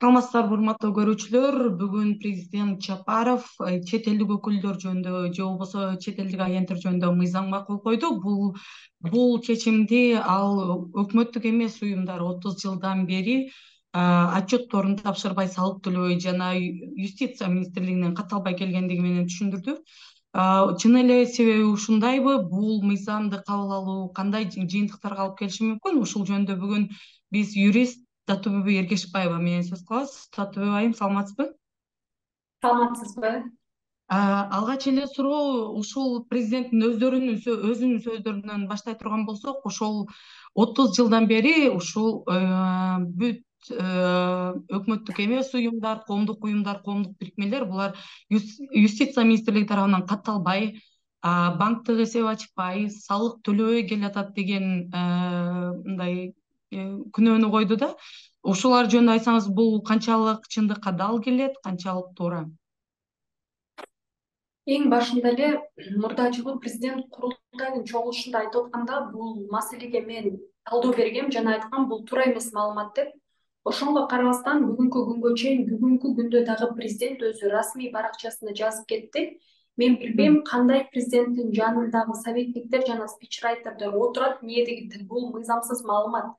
Саламатсыздарбы, урматтуу көрүүчүлөр. Бүгүн президент Жапаров чет элдик өкүлдөр жөнүндө же болбосо чет элдик агенттер жөнүндө мыйзамга кол койду. Бул чечимди ал өкмөттүк эмес уюмдар 30 жылдан бери отчетторун тапшырбай, салык төлөбөй жана юстиция министрлигинен кат албай келгендиги менен түшүндүрдү. Чын эле себеби ушундайбы? Бул мыйзамды кабыл алуу кандай жыйынтыктарга алып келиши мүмкүн? Ушул жөнүндө бүгүн биз юрист Татыбүбү Эргешбаева менен сөз кылабыз. Татыбүбү айым, саламатсызбы? Саламатсызбы? Алгач эле суроо, ушул президенттин өзүнүн сөздөрүнөн баштай турган болсок, ошол 30 жылдан бери ушул бүт өкмөттүк эмес уюмдар, коомдук уюмдар, коомдук бирикмелер булар юстиция министрлиги тарабынан катталбай, банктык эсеп ачпай, салык төлөбөй келатат деген мындай күнөөнү койду да. Ушулар жөнүндө айтсаңыз, бул канчалык чындыкка дал келет, канчалык туура? Эң башында эле мурда жылы президент курултайдын чогулушунда айтып атканда бул маселеге мен талдоо бергем жана айткам бул туура эмес маалымат деп. Ошонго карабастан бүгүнкү күнгө чейин бүгүнкү күндө дагы президент өзү расмий баракчасына жазып кетти. Мен билбейм кандай президенттин жанындагы советниктер жана спичрайтердер отурат эмне деген бул мыйзамсыз маалымат.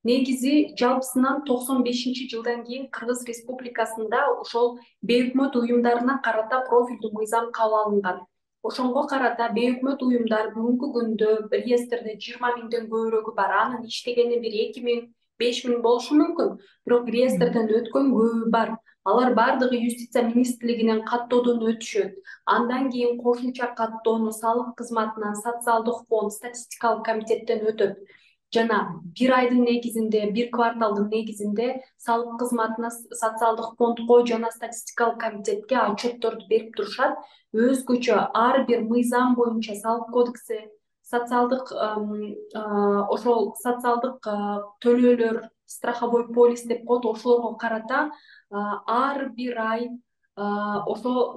Негизи жалпысынан 95-жылдан кийин Кыргыз Республикасында ошол бейөкмөт уюмдарына карата профилдүү мыйзам кабыл алынган. Ошонго карата бейөкмөт уюмдар бүгүнкү күндө реестрде 20 миңден көбүрөгү бар. Анын иштегени бир 2 миң, 5 миң болушу мүмкүн, бирок реестрден өткөн көбү бар. Алар бардыгы юстиция министрлигинен каттоодон өтүшөт. Андан кийин кошумча каттоону салык кызматынан, социалдык фонд, статистикалык комитеттен өтөт. Жана бир айдын негизинде, бир кварталдын негизинде салык кызматына, социалдык фондко жана статистикалык комитетке отчетторду берип турушат. Өзгөчө ар бир мыйзам боюнча салык кодекси, социалдык ошол социалдык төлөөлөр, страховой полис деп коет, ошолорго карата ар бир ай ошо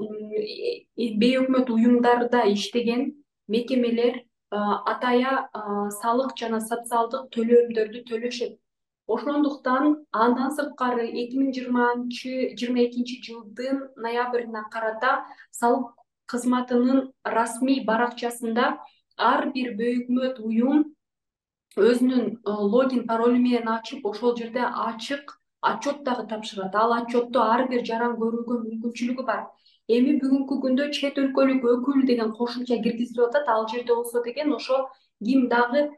бейөкмөт уюмдарда иштеген мекемелер атая салык жана социалдык төлөмдөрдү төлөшөт. Ошондуктан андан сырткары 2022 жылдын ноябрына карата салык кызматынын расмий баракчасында ар бир бейөкмөт уюм өзүнүн логин паролу менен ачып, ошол жерде ачык отчет дагы тапшырат. Ал отчетту ар бир жаран көрүүгө мүмкүнчүлүгү бар. Эми бүгүнкү күндө чет өлкөлүк өкүл деген кошумча киргизилип атат. Ал жерде болсо деген ошо ким дагы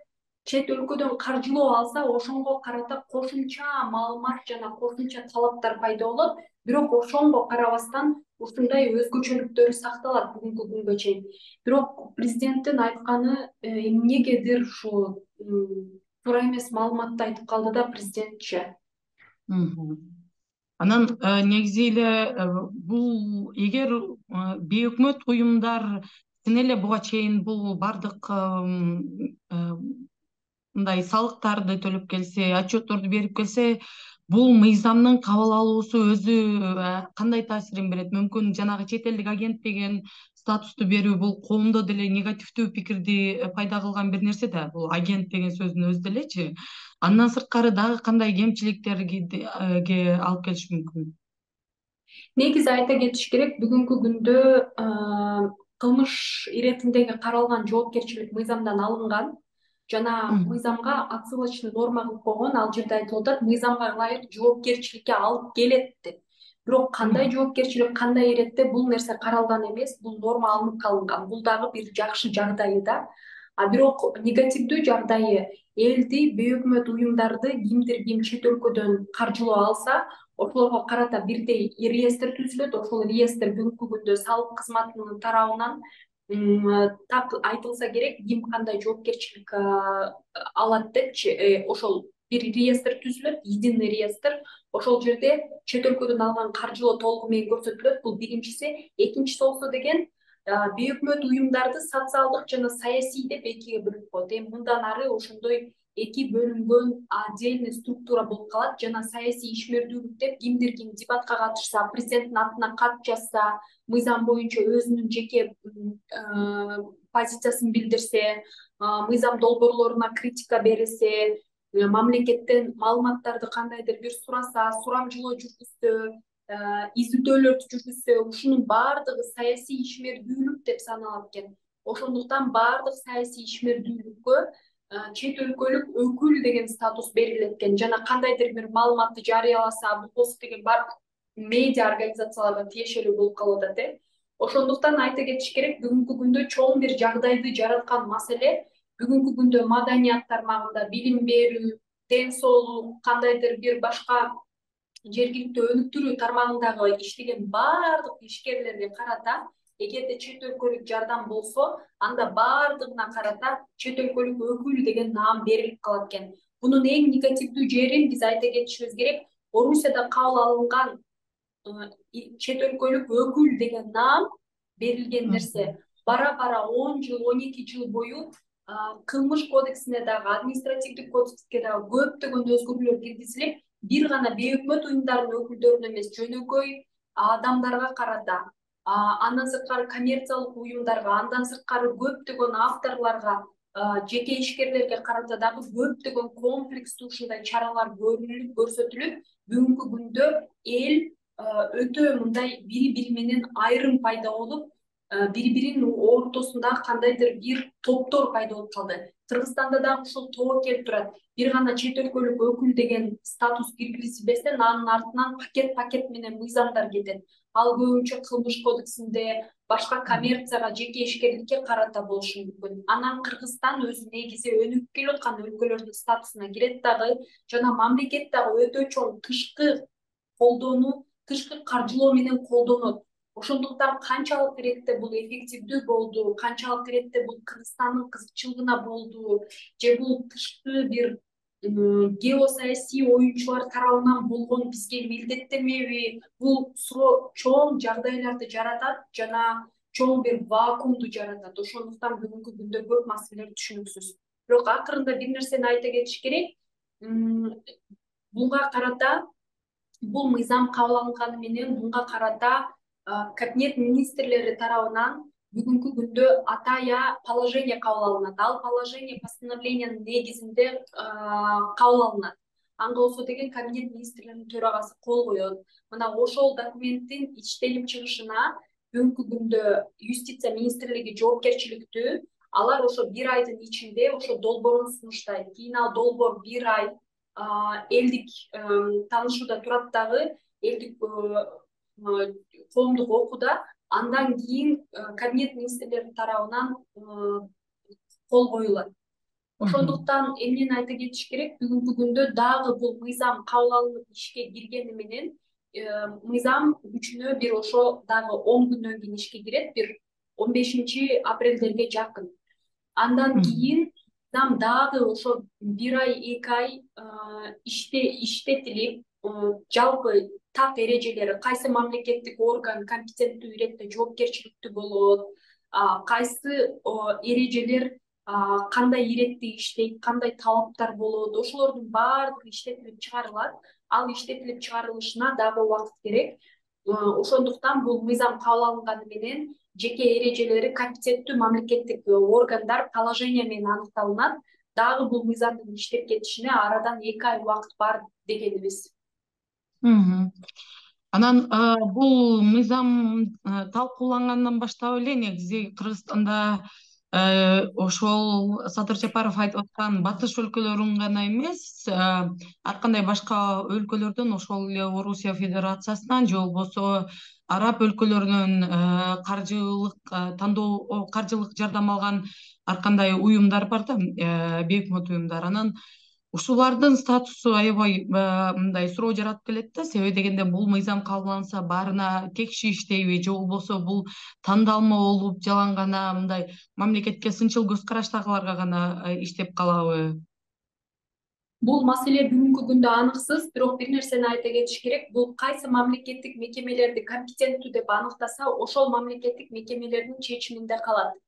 чет өлкөдөн каржылоо алса, ошонго карата кошумча маалымат жана кошумча талаптар пайда болот. Бирок ошонго карабастан ушундай өзгөчөлүктөрү сакталат бүгүнкү күнгө чейин. Бирок президенттин айтканы эмнегедир ушу туура эмес маалыматты айтып калды да президентче. Анан негизи эле бул эгер бейөкмөт уюмдар чын эле буга чейин бул бардык мындай салыктарды төлөп келсе, отчетторду берип келсе, бул мыйзамдын кабыл алуусу өзү кандай таасирин берет? Мүмкүн жанагы чет элдик агент деген статусту берүү бул коомдо деле негативдүү пикирди пайда кылган бир нерсе да, бул агент деген сөздүн өзү делечи. Андан сырткары дагы кандай кемчиликтерге алып келиши мүмкүн? Негизи айта кетиш керек, бүгүнкү күндө кылмыш иретиндеги каралган жоопкерчилик мыйзамдан алынган жана мыйзамга отсылочный норма кылып койгон. Ал жерде айтылып атат, мыйзамга ылайык жоопкерчиликке алып келет деп. Бирок кандай жоопкерчилик, кандай иретте бул нерсе каралган эмес, бул норма алынып калынган. Бул дагы бир жакшы жагдайы да. Бирок негативдүү жагдайы элди, бейөкмөт уюмдарды ким чет өлкөдөн каржылоо алса, ошолорго карата бирдей реестр түзүлөт. Ошол реестр бүгүнкү күндө салык кызматынын тарабынан так айтылса керек, ким кандай жоопкерчилик алат депчи, ошол бир реестр түзүлөт, единый реестр. Ошол жерде чет өлкөдөн алган каржылоо толугу менен көрсөтүлөт. Бул биринчиси. Экинчиси болсо деген бейөкмөт уюмдарды социалдык жана саясий деп экиге бөлүп коет. Эми мындан ары ошондой эки бөлүнгөн отдельный структура болуп калат. Жана саясий ишмердүүлүк деп кимдир ким дебатка катышса, президенттин атына кат жазса, мыйзам боюнча өзүнүн жеке позициясын билдирсе, мыйзам долбоорлоруна критика берсе, мамлекеттен маалыматтарды кандайдыр бир сураса, сурамжылоо жүргүзсө, изилдөөлөрдү жүргүзсө, ушунун баардыгы саясий ишмердүүлүк деп саналат экен. Ошондуктан баардык саясий ишмердүүлүккө чет өлкөлүк өкүл деген статус берилет экен. Жана кандайдыр бир маалыматты жарыяласа, бул болсо деген баардык медиа организацияларга тиешелүү болуп калып атат. Ошондуктан айта кетиш керек, бүгүнкү күндө чоң бир жагдайды жараткан маселе бүгүнкү күндө маданият тармагында, билим берүү, ден соолук, кандайдыр бир башка жергиликтүү өнүктүрүү тармагындагы иштеген баардык ишкерлерге карата эгерде чет өлкөлүк жардам болсо, анда баардыгына карата чет өлкөлүк өкүл деген наам берилип калат экен. Бунун эң негативдүү жерин биз айта кетишибиз керек. Орусияда кабыл алынган чет өлкөлүк өкүл деген наам берилген нерсе бара бара 10 жыл, 12 жыл бою кылмыш кодексине дагы, административдик кодекске дагы көптөгөн өзгөрүүлөр киргизилип, бир гана бейөкмөт уюмдардын өкүлдөрүнө эмес, жөнөкөй адамдарга карата, андан сырткары коммерциялык уюмдарга, андан сырткары көптөгөн авторлорго, жеке ишкерлерге карата дагы көптөгөн комплекстүү ушундай чаралар көрүлүп, көрсөтүлүп, бүгүнкү күндө эл өтө мындай бири-бири менен айрым пайда болуп, бири-биринин ортосунда кандайдыр бир топтор пайда болуп калды. Кыргызстанда дагы ушул тоо келип турат. Бир гана чет өлкөлүк өкүл деген статус киргизилбестен анын артынан пакет менен мыйзамдар кетет. Ал көбүнчө кылмыш кодексинде, башка коммерцияга, жеке ишкерликке карата болушу мүмкүн. Анан Кыргызстан өзү негизи өнүгүп келаткан өлкөлөрдүн статусуна кирет дагы, жана мамлекет дагы өтө чоң тышкы колдоону, тышкы каржылоо менен колдонот. Ошондуктан канчалык иретте бул эффективдүү болду, канчалык иретте бул Кыргызстандын кызыкчылыгына болду, же бул тышкы бир геосаясий оюнчулар тарабынан болгон бизге милдеттенеби, бул суроо чоң жагдайларды жаратат жана чоң бир вакуумду жаратат. Ошондуктан бүгүнкү күндө көп маселелер түшүнүксүз. Бирок акырында бир нерсени айта кетиш керек. Буга карата бул мыйзам кабыл алынганы менен буга карата кабинет министрлери тарабынан бүгүнкү күндө атая положение кабыл алынат. Ал положение постановлениянын негизинде кабыл алынат. Ага болсо деген кабинет министрлеринин төрагасы кол коет. Мына ошол документтин иштелип чыгышына бүгүнкү күндө юстиция министрлиги жоопкерчиликтүү. Алар ошо бир айдын ичинде ошо долбоорун сунуштайт. Кийин ал долбоор бир ай элдик таанышууда турат дагы, элдик коомдук окууда, андан кийин кабинет министрлери тарабынан кол коюлат. Ошондуктан эмнени айта кетиш керек, бүгүнкү күндө дагы бул мыйзам кабыл алынып ишке киргени менен мыйзам күчүнө бир ошо дагы 10 күндөн кийин ишке кирет, бир 15 апрелдерге жакын. Андан кийин мыйзам дагы ошо бир ай, 2 ай иштетилип, жалпы так эрежелери, кайсы мамлекеттик орган компетенттүү иретте жоопкерчиликтүү болот, кайсы эрежелер кандай иретте иштейт, кандай талаптар болот, ошолордун баардыгы иштетилип чыгарылат. Ал иштетилип чыгарылышына дагы убакыт керек. Ошондуктан бул мыйзам кабыл алынганы менен жеке эрежелери компетенттүү мамлекеттик органдар положение менен аныкталынат. Дагы бул мыйзамдын иштеп кетишине арадан 2 ай убакыт бар дегенибиз. Анан бул мыйзам талкуулангандан баштап эле негизи Кыргызстанда ошол Садыр Жапаров айтып аткан батыш өлкөлөрүн гана эмес, ар кандай башка өлкөлөрдөн, ошол эле Орусия Федерациясынан же болбосо араб өлкөлөрүнөн каржылык жардам алган ар кандай уюмдар бар да, бейөкмөт уюмдар. Анан ушулардын статусу аябай мындай суроо жаратып келет да, себеби дегенде бул мыйзам кабылданса баарына текши иштейби, же болбосо бул тандалма болуп жалаң гана мындай мамлекетке сынчыл көз караштагыларга гана иштеп калабы? Бул маселе бүгүнкү күндө аныксыз, бирок бир нерсени айта кетиш керек. Бул кайсы мамлекеттик мекемелерди компетенттүү деп аныктаса, ошол мамлекеттик мекемелердин чечиминде калат.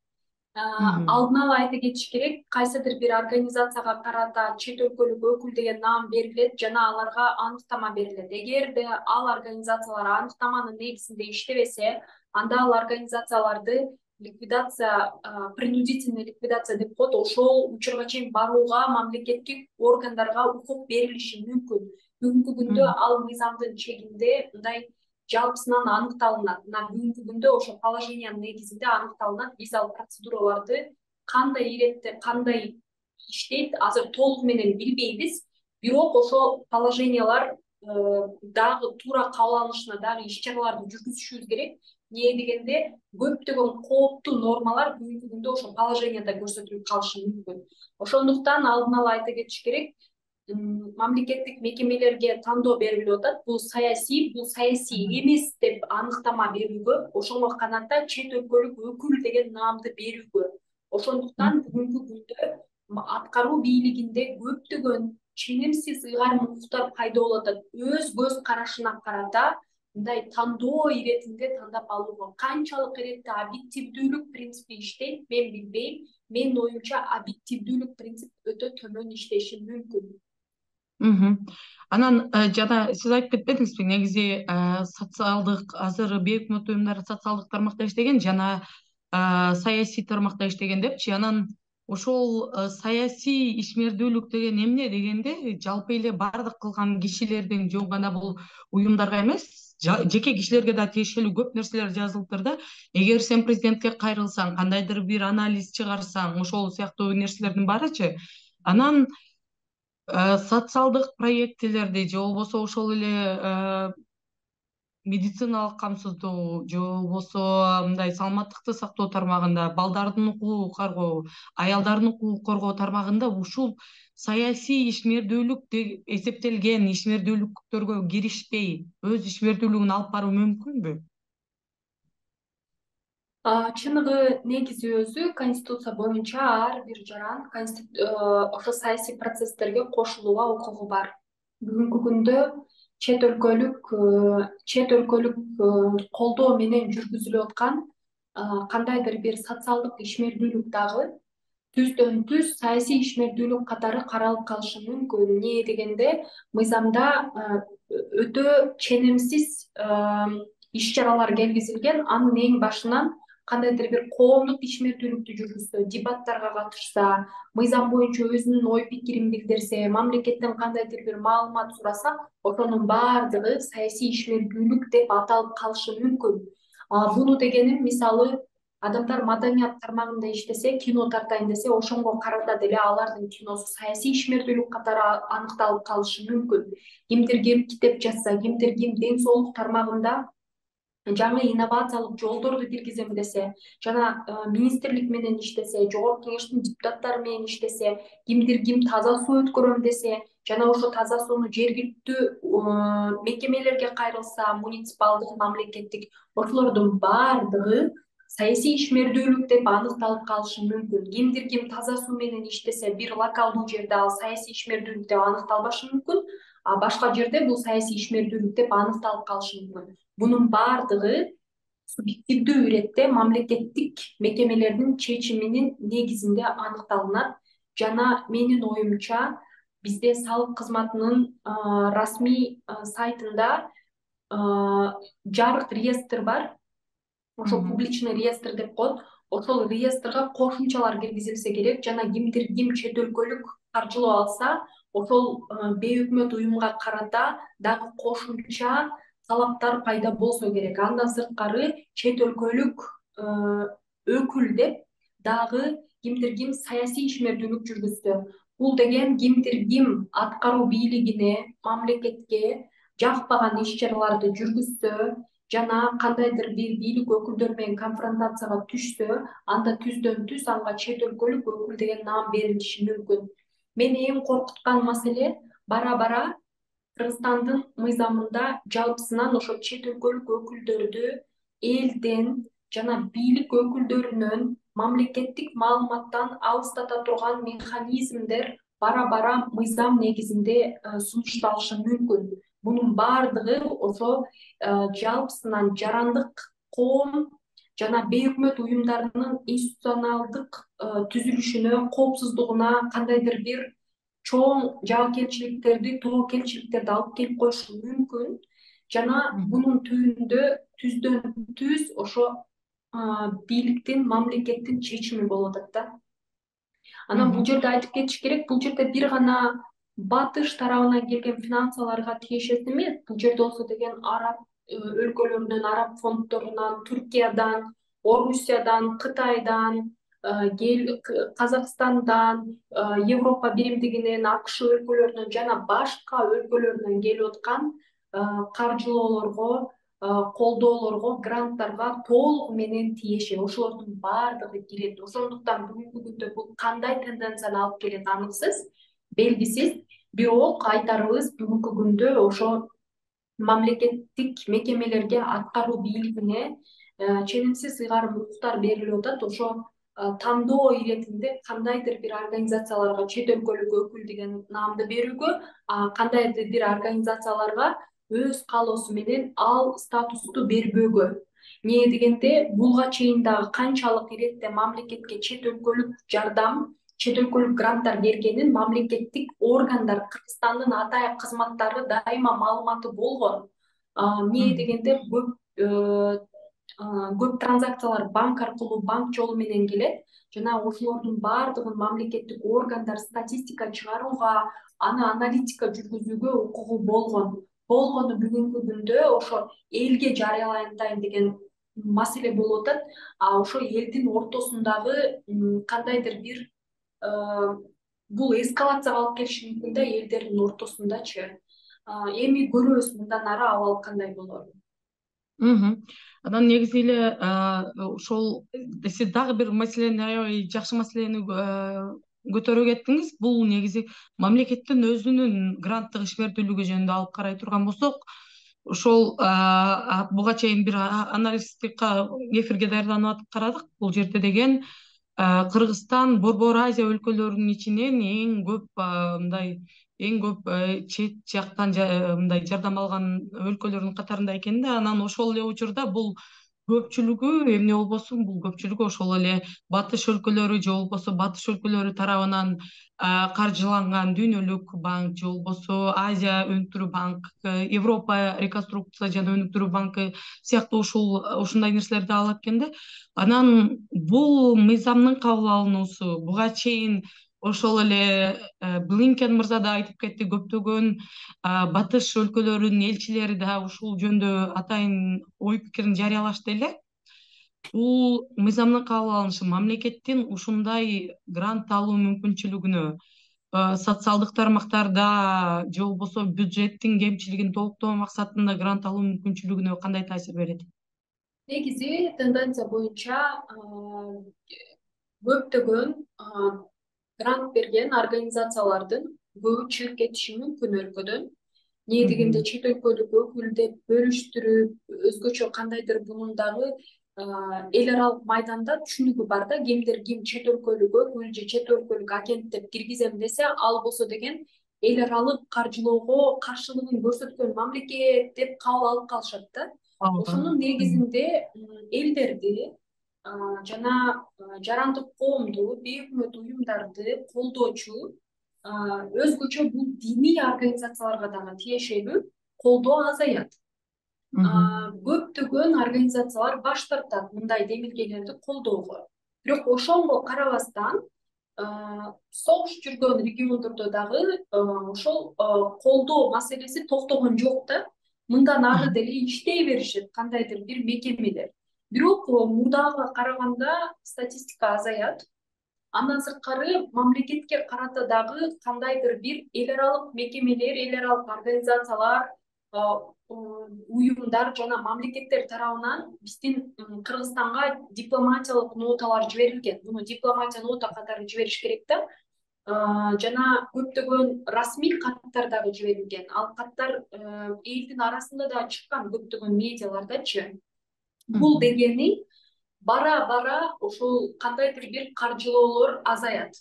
Алдын ала айта кетиш керек, кайсыдыр бир организацияга карата чет өлкөлүк өкүл деген наам берилет жана аларга аныктама берилет. Эгерде ал организациялар аныктаманын негизинде иштебесе, анда ал организацияларды ликвидация, принудительный ликвидация деп коет, ошол учурга чейин барууга мамлекеттик органдарга укук берилиши мүмкүн. Бүгүнкү күндө ал мыйзамдын чегинде мындай жалпысынан аныкталынат. Мына бүгүнкү күндө ошо положениянын негизинде аныкталынат. Биз ал процедураларды кандай иретте, кандай иштейт азыр толугу менен билбейбиз. Бирок ошол положениялар дагы туура кабыл алынышына дагы иш-чараларды жүргүзүшүбүз керек. Эмне дегенде көптөгөн кооптуу нормалар бүгүнкү күндө ошол положенияда көрсөтүлүп калышы мүмкүн. Ошондуктан алдын ала айта кетиш керек, мамлекеттик мекемелерге тандоо берилип атат. Бул саясий эмес деп аныктама берүүгө, ошого каната чет өлкөлүк өкүл деген наамды берүүгө. Ошондуктан бүгүнкү күндө аткаруу бийлигинде көптөгөн ченемсиз ыйгарым укуктар пайда болуп атат. Өз көз карашына карата мындай тандоо иретинде тандап алууга канчалык иретте объективдүүлүк принципи иштейт, мен билбейм. Менин оюмча объективдүүлүк принцип өтө төмөн иштеши мүмкүн. Анан жана сиз айтып кетпедиңизби, негизи социалдык азыр бейөкмөт уюмдар социалдык тармакта иштеген жана саясий тармакта иштеген депчи. Анан ошол саясий ишмердүүлүк деген эмне дегенде жалпы эле баардык кылган кишилердин жөн гана бул уюмдарга эмес, жеке кишилерге да тиешелүү көп нерселер жазылыптыр да. Эгер сен президентке кайрылсаң, кандайдыр бир анализ чыгарсаң, ошол сыяктуу нерселердин баарычы, анан социалдык проектилерди же болбосо ошол эле медициналык камсыздоо же болбосо мындай саламаттыкты сактоо тармагында, балдардын укугун коргоо, аялдардын укугун коргоо тармагында ушул саясий ишмердүүлүк деп эсептелген ишмердүүлүктөргө киришпей өз ишмердүүлүгүн алып баруу мүмкүнбү? Чыныгы негизи өзү Конституция боюнча ар бир жаран ошо саясий процесстерге кошулууга укугу бар. Бүгүнкү күндө чет өлкөлүк колдоо менен жүргүзүлүп аткан кандайдыр бир социалдык ишмердүүлүк дагы түздөн түз саясий ишмердүүлүк катары каралып калышы мүмкүн. Эмне дегенде мыйзамда өтө ченемсиз иш-чаралар келгизилген. Анын эң башынан кандайдыр бир коомдук ишмердүүлүктү жүргүзсө, дебаттарга катышса, мыйзам боюнча өзүнүн ой пикирин билдирсе, мамлекеттен кандайдыр бир маалымат сураса, ошонун баардыгы саясий ишмердүүлүк деп аталып калышы мүмкүн. Буну дегеним, мисалы, адамдар маданият тармагында иштесе, кино тартайын десе, ошонго карата деле алардын киносу саясий ишмердүүлүк катары аныкталып калышы мүмкүн. Кимдир китеп жазса, кимдир ден соолук тармагында жаңы инновациялык жолдорду киргизем десе, жана министрлик менен иштесе, жогорку кеңештин депутаттары менен иштесе, кимдир таза суу өткөрөм десе, жана ошо таза сууну жергиликтүү мекемелерге кайрылса, муниципалдык, мамлекеттик, ошолордун баардыгы саясий ишмердүүлүк деп аныкталып калышы мүмкүн. Кимдир таза суу менен иштесе, бир локалдуу жерде ал саясий ишмердүүлүк деп аныкталбашы мүмкүн, а башка жерде бул саясий ишмердүүлүк деп аныкталып калышы мүмкүн. Бунун баардыгы субъективдүү иретте мамлекеттик мекемелердин чечиминин негизинде аныкталынат. Жана менин оюмча бизде салык кызматынын расмий сайтында жарык реестр бар. Ошо публичный реестр деп коет. Ошол реестрге кошумчалар киргизилсе керек. Жана кимдир чет өлкөлүк каржылоо алса, ошол бейөкмөт уюмга карата дагы кошумча талаптар пайда болсо керек. Андан сырткары чет өлкөлүк өкүл деп дагы кимдир саясий ишмердүүлүк жүргүзсө, бул деген кимдир аткаруу бийлигине, мамлекетке жакпаган иш-чараларды жүргүзсө, жана кандайдыр бир бийлик өкүлдөр менен конфронтацияга түшсө, анда түздөн түз анга чет өлкөлүк өкүл деген наам берилиши мүмкүн. Мени эң коркуткан маселе бара-бара Кыргызстандын мыйзамында жалпысынан ошо чет өлкөлүк өкүлдөрдү элден жана бийлик өкүлдөрүнөн мамлекеттик маалыматтан алыстата турган механизмдер бара-бара мыйзам негизинде сунушталышы мүмкүн. Бунун баардыгы ошо жалпысынан жарандык коом жана бейөкмөт уюмдарынын институционалдык түзүлүшүнө, коопсуздугуна кандайдыр бир чоң жаакерчиликтерди, тобокелчиликтерди алып келип коюшу мүмкүн. Жана бунун түбүндө түздөн түз ошо бийликтин, мамлекеттин чечими болуп атат да. Анан бул Мгм. жерде айтып кетиш керек, бул жерде бир гана батыш тарабынан келген финансаларга тиешеси эмес. Бул жерде болсо деген араб өлкөлөрүнөн, араб фонддорунан, Түркиядан, Орусиядан, Кытайдан, Казакстандан, Европа биримдигинен, АКШ өлкөлөрүнөн жана башка өлкөлөрдөн келип аткан каржылоолорго, колдоолорго, гранттарга толугу менен тиешелүү. Ошолордун баардыгы кирет. Ошондуктан бүгүнкү күндө бул кандай тенденцияны алып келет аныксыз, белгисиз. Бирок айтарыбыз бүгүнкү күндө ошо мамлекеттик мекемелерге, аткаруу бийлигине ченемсиз ыйгарым укуктар берилип атат. Ошо тандоо иретинде кандайдыр бир организацияларга чет өлкөлүк өкүл деген наамды берүүгө, кандайдыр бир организацияларга өз каалоосу менен ал статусту бербөөгө. Эмне дегенде буга чейин дагы канчалык иретте мамлекетке чет өлкөлүк жардам, чет өлкөлүк гранттар бергенин мамлекеттик органдар, Кыргызстандын атайын кызматтары дайыма маалыматы болгон. Эмне дегенде көп транзакциялар банк аркылуу, банк жолу менен келет жана ошолордун баардыгын мамлекеттик органдар статистика чыгарууга, аны аналитика жүргүзүүгө укугу болгону бүгүнкү күндө ошо элге жарыялантайын деген маселе болуп атат. Ошо элдин ортосундагы кандайдыр бир бул эскалацияга алып келиши мүмкүн да элдердин ортосундачы. Эми көрөбүз мындан ары абал кандай болорун. Анан негизи эле ошол сиз дагы бир маселени, аябай жакшы маселени көтөрүп кеттиңиз. Бул негизи мамлекеттин өзүнүн гранттык ишмердүүлүгү жөнүндө алып карай турган болсок, ошол буга чейин бир аналитика эфирге даярданып атып карадык. Бул жерде деген Кыргызстан Борбор Азия өлкөлөрүнүн ичинен эң көп чет жактан мындай жардам алган өлкөлөрдүн катарында экен да. Анан ошол эле учурда бул көпчүлүгү эмне болбосун, бул көпчүлүгү ошол эле батыш өлкөлөрү же болбосо батыш өлкөлөрү тарабынан каржыланган Дүйнөлүк банк же болбосо Азия өнүктүрүү банк, Европа реконструкция жана өнүктүрүү банкы сыяктуу ушундай нерселерди алат экен да. Анан бул мыйзамдын кабыл алынуусу буга чейин ошол эле Блинкен мырза да айтып кетти, көптөгөн батыш өлкөлөрүнүн элчилери да ушул жөнүндө атайын ой пикирин жарыялашты эле. Бул мыйзамдын кабыл алынышы мамлекеттин ушундай грант алуу мүмкүнчүлүгүнө, социалдык тармактарда же болбосо бюджеттин кемчилигин толуктоо максатында грант алуу мүмкүнчүлүгүнө кандай таасир берет? Негизи тенденция боюнча көптөгөн грант берген организациялардын көбү чыгып кетиши мүмкүн өлкөдөн. Эмне дегенде чет өлкөлүк өкүл деп бөлүштүрүп, өзгөчө кандайдыр bunun дагы эл аралык майданда түшүнүгү бар да, ким чет өлкөлүк өкүл же чет өлкөлүк агент деп киргизем десе, ал болсо деген эл аралык каржылоого каршылыгын көрсөткөн мамлекет деп кабыл алып калышат да. Ошонун негизинде элдерди жана жарандык коомду, бейөкмөт уюмдарды колдоочу, өзгөчө бул диний организацияларга дагы тиешелүү колдоо азаят. Көптөгөн организациялар баш тартат мындай демилгелерди колдоого. Бирок ошонго карабастан согуш жүргөн региондордо дагы ошол колдоо маселеси токтогон жок да. Мындан ары деле иштей беришет кандайдыр бир мекемелер. Бирок мурдага караганда статистика азаят. Андан сырткары мамлекетке карата дагы кандайдыр бир эл аралык мекемелер, эл аралык организациялар, уюмдар жана мамлекеттер тарабынан биздин Кыргызстанга дипломатиялык ноталар жиберилген. Муну дипломатия нота катары жибериш керек да. Жана көптөгөн расмий каттар дагы жиберилген. Ал каттар элдин арасында да чыккан көптөгөн медиалардачы. Бул дегени бара бара ошол кандайдыр бир каржылоолор азаят.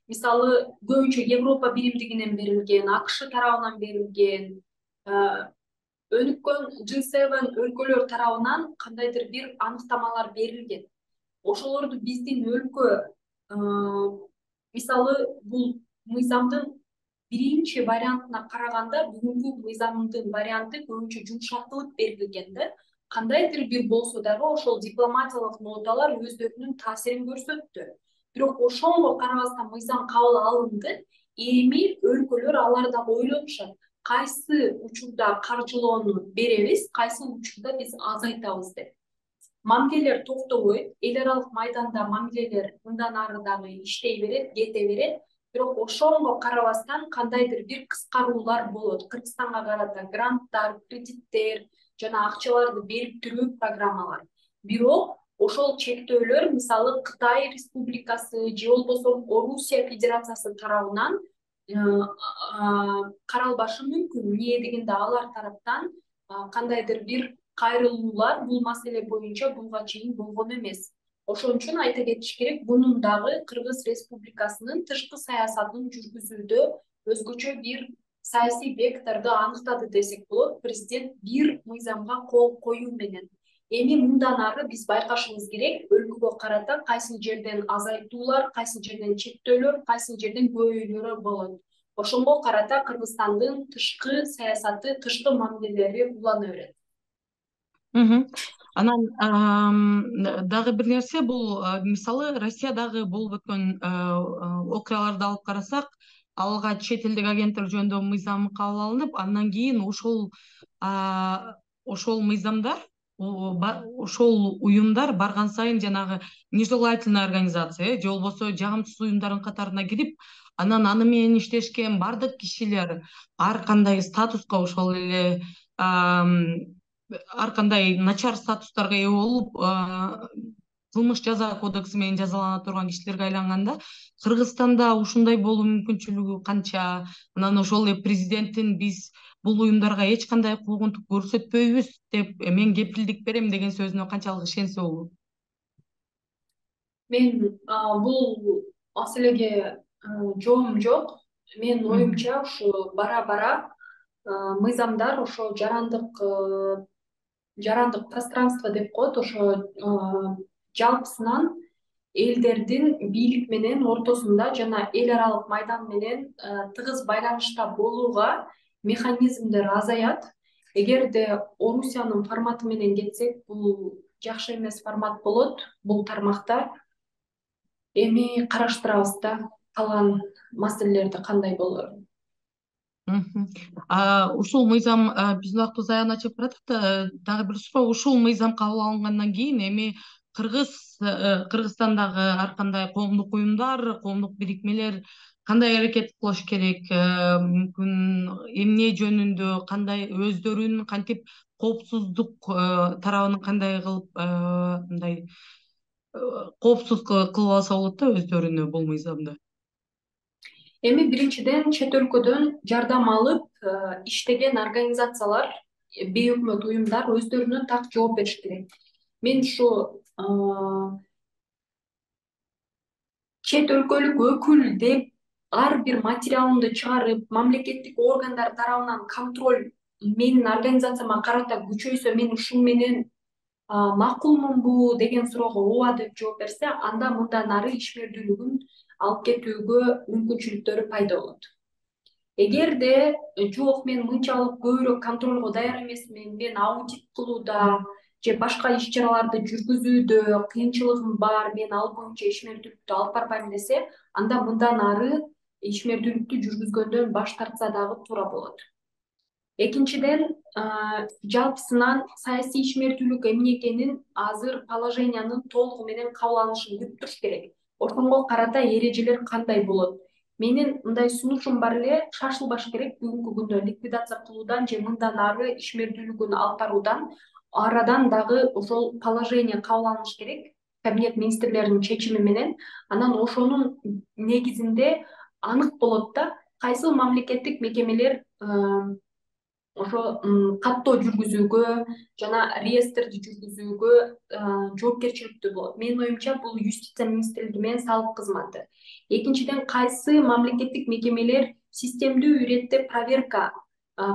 Мисалы, көбүнчө Европа биримдигинен берилген, АКШ тарабынан берилген, өнүккөн G7 өлкөлөр тарабынан кандайдыр бир аныктамалар берилген. Ошолорду биздин өлкө мисалы бул мыйзамдын биринчи вариантына караганда бүгүнкү мыйзамдын варианты көбүнчө жумшартылып берилген да. кандайдыр бир болсо дагы ошол дипломатиялык ноталар өздөрүнүн таасирин көрсөттү. Бирок ошонго карабастан мыйзам кабыл алынды. Эми өлкөлөр алар дагы ойлонушат. Кайсы учурда каржылоону беребиз, кайсы учурда биз азайтабыз деп. Мамилелер токтобойт. Эл аралык майданда мамилелер мындан ары дагы иштей берет, кете берет. Бирок ошонго карабастан кандайдыр бир кыскаруулар болот. Кыргызстанга карата гранттар, кредиттер жана акчаларды берип туруу программалар. Бирок ошол чектөөлөр мисалы Кытай Республикасы же болбосо Орусия Федерациясы тарабынан каралбашы мүмкүн. Эмне дегенде алар тараптан кандайдыр бир кайрылуулар бул маселе боюнча буга чейин болгон эмес. Ошон үчүн айта кетиш керек, бунун дагы Кыргыз Республикасынын тышкы саясатын жүргүзүүдө өзгөчө бир саясий векторду аныктады десек болот. Президент бир мыйзамга кол коюу менен. Эми мындан ары биз байкашыбыз керек, өлкөгө карата кайсы жерден азайтуулар, кайсы жерден чектөөлөр, кайсы жерден көбөйлөрү болот. Ошонго карата Кыргызстандын тышкы саясаты, тышкы мамилелери улана берет. Анан дагы бир нерсе, бул мисалы Россиядагы болуп өткөн окуяларды алып карасак, алга чет элдик агенттер жөнүндө мыйзам кабыл алынып, андан кийин ошол мыйзамдар, ошол уюмдар барган сайын жанагы нежелательная организация же болбосо жагымсыз уюмдардын катарына кирип, анан аны менен иштешкен бардык кишилер ар кандай статуска, ошол эле ар кандай начар статустарга ээ болуп, кылмыш жаза кодекси менен жазалана турган кишилерге айланганда, Кыргызстанда ушундай болуу мүмкүнчүлүгү канча? Анан ошол эле президенттин биз бул уюмдарга эч кандай куугунтук көрсөтпөйбүз деп мен кепилдик берем деген сөзүнө канчалык ишенсе болот? Мен бул маселеге жообум жок. Менин оюмча ушу бара-бара мыйзамдар ошо жарандык пространство деп коет, ошо жалпысынан элдердин бийлик менен ортосунда жана эл аралык майдан менен тыгыз байланышта болууга механизмдер азаят. Эгерде Орусиянын форматы менен кетсек, бул жакшы эмес формат болот бул тармакта. Эми караштырабыз да калган маселелерди кандай болорун. Ушул мыйзам биздин убактыбыз аягына чыгып баратат да, дагы бир суроо, ушул мыйзам кабыл алынгандан кийин эми Кыргызстандагы ар кандай коомдук уюмдар, коомдук бирикмелер кандай аракет кылыш керек? Мүмкүн эмне жөнүндө, кандай өздөрүн кантип коопсуздук тарабын кандай кылып мындай коопсуз кылып алса болот да өздөрүнө бул мыйзамды? Эми биринчиден чет өлкөдөн жардам алып иштеген организациялар, бейөкмөт уюмдар өздөрүнө так жооп бериш керек. Мен ушу чет өлкөлүк өкүл деп ар бир материалымды чыгарып, мамлекеттик органдар тарабынан контроль менин организацияма карата күчөйсө, мен ушун менен макулмунбу деген суроого ооба деп жооп берсе, анда мындан ары ишмердүүлүгүн алып кетүүгө мүмкүнчүлүктөрү пайда болот. Эгерде жок, мен мынчалык көбүрөөк контролго даяр эмесмин, мен аудит кылууда же башка иш чараларды жүргүзүүдө кыйынчылыгым бар, мен ал боюнча ишмердүүлүктү алып барбайм десе, анда мындан ары ишмердүүлүктү жүргүзгөндөн баш тартса дагы туура болот. Экинчиден, жалпысынан саясий ишмердүүлүк эмне экенин азыр положениянын толугу менен кабыл алынышын күтүп туруш керек. Ошонго карата эрежелер кандай болот? Менин мындай сунушум бар эле, шашылбаш керек бүгүнкү күндө ликвидация кылуудан же мындан ары ишмердүүлүгүн алып баруудан. Арадан дагы ошол положение кабыл алыныш керек, кабинет министрлеринин чечими менен. Анан ошонун негизинде анык болот да, кайсыл мамлекеттик мекемелер ошо каттоо жүргүзүүгө жана реестрди жүргүзүүгө жоопкерчиликтүү болот. Менин оюмча бул юстиция министрлиги менен салык кызматы. Экинчиден, кайсы мамлекеттик мекемелер системдүү иретте проверка,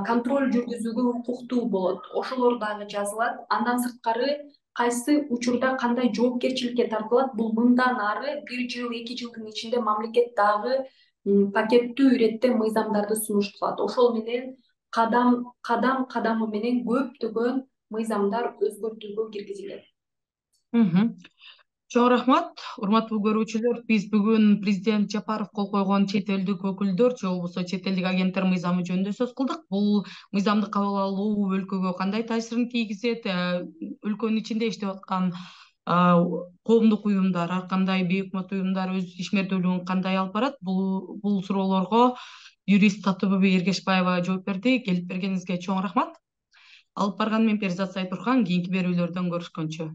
контроль жүргүзүүгө укуктуу болот. Ошолор дагы жазылат. Андан сырткары кайсы учурда кандай жоопкерчиликке тартылат, бул мындан ары 1 жыл, 2 жылдын ичинде мамлекет дагы пакеттүү иретте мыйзамдарды сунуш кылат. Ошол менен кадам кадамы менен көптөгөн мыйзамдар өзгөртүүгө киргизилет. Чоң рахмат, урматтуу көрүүчүлөр. Биз бүгүн президент Жапаров кол койгон чет элдик өкүлдөр же болбосо чет элдик агенттер мыйзамы жөнүндө сөз кылдык. Бул мыйзамды кабыл алуу өлкөгө кандай таасирин тийгизет, өлкөнүн ичинде иштеп аткан коомдук уюмдар, ар кандай бейөкмөт уюмдар өз ишмердүүлүгүн кандай алып барат? Бул суроолорго юрист Татыбүбү Эргешбаева жооп берди. Келип бергениңизге чоң рахмат. Алып барган мен Перизат Сайтурхан. Кийинки берүүлөрдөн көрүшкөнчө.